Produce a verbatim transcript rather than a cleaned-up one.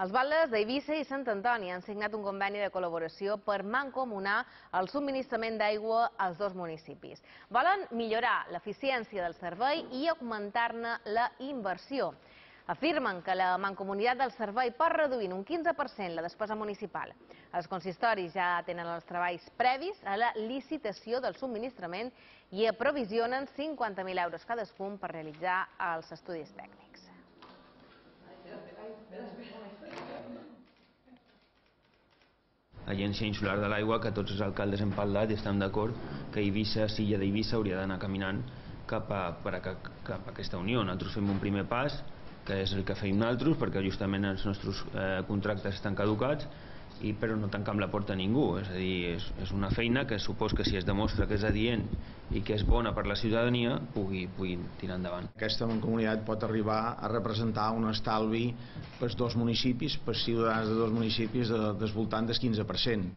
Els batlles d'Eivissa i Sant Antoni han signat un conveni de col·laboració per mancomunar el subministrament d'aigua als dos municipis. Volen millorar l'eficiència del servei i augmentar-ne la inversió. Afirmen que la mancomunitat del servei pot reduir en un quinze per cent la despesa municipal. Els consistoris ja tenen els treballs previs a la licitació del subministrament i aprovisionen cinquanta mil euros cadascun per realitzar els estudis tècnics. Agència Insular de l'Aigua, que tots els alcaldes hem parlat i estem d'acord que Eivissa, Silla d'Eivissa, hauria d'anar caminant cap a, per a, cap a aquesta unió. Nosaltres fem un primer pas, que és el que feim nosaltres, perquè justament els nostres eh, contractes estan caducats, i però no tancam la porta a ningú. És a dir, és, és una feina que supos que si es demostra que és adient i que és bona per la ciutadania, pugui, pugui tirar endavant. Aquesta mancomunitat pot arribar a representar un estalvi pels dos municipis, pels ciutadans de dos municipis, de, del voltant del quinze per cent.